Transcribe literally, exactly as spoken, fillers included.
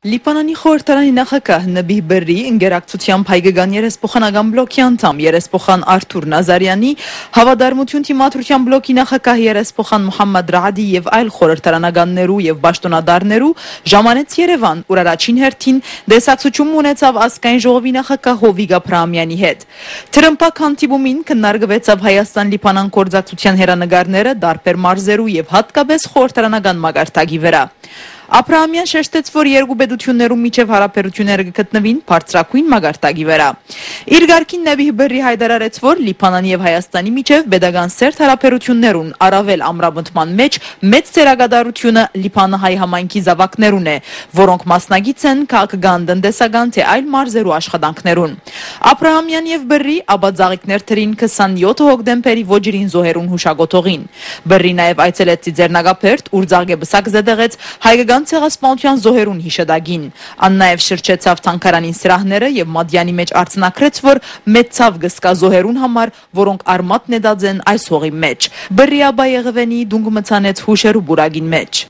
Լիբանանի խորհրդարանի նախագահ Նաբիհ Բըրրի ընկերակցությամբ հայկական երեսփոխանական բլոկի անդամ երեսփոխան Արթուր Նազարեանի, Հաւատարմութիւն դիմադրութեան բլոկի նախագահ երեսփոխան Մուհամմադ Ռաադի եւ այլ խորհրդարանականներու եւ պաշտօնատարներու ժամանեց Երեւան, ուր առաջին հերթին տեսակցութիւն մը ունեցաւ ազգային ժողովի նախագահ Հովիկ Աբրահամեանի հետ։ Տրմպակ հանդիպումին քննարկուեցաւ Հայաստան-Լիբանան գործակցութեան հեռանկարները տարբեր մարզերու եւ յատկապես խորհրդարանական մակարդակի վրա։ Աբրահամեան շեշտեց, որ երկու պետութիւններու միջեւ յարաբերութիւնները կը գտնուին բարձրագոյն մակարդակի վրա։ Իր կարգին Նաբիհ Բըրրի յայտարարեց, որ Լիբանանի եւ Հայաստանի միջեւ պետական սերտ յարաբերութիւններուն առավել ամրապնդման մէջ մեծ դերակատարութիւնը լիբանահայ համայնքի զաւակներուն է, որոնք մասնակից են քաղաքական, տնտեսական թէ այլ մարզերու աշխատանքներուն։ Աբրահամեան եւ Բըրրի ապա ծաղիկներ դրին քսանեօթ հոկտեմբերի ոճիրին զոհերուն յուշակոթողին։ Բըրրի նաեւ այցելեց Ծիծեռնակաբերդ, ուր ծաղկեպսակ զետեղեց հայկական ցեղասպանութեան զոհերուն յիշատակին։ Ան նաեւ շրջեցաւ թանգարանին սրահները եւ Մատեանի մէջ արձանագրեց, որ մեծ ցաւ կը զգայ զոհերուն համար, որոնք արմատ նետած են այս հողի մէջ։ Բըրրի ապա Եղեւէնի տունկ մը ցանեց յուշերու պուրակին մէջ։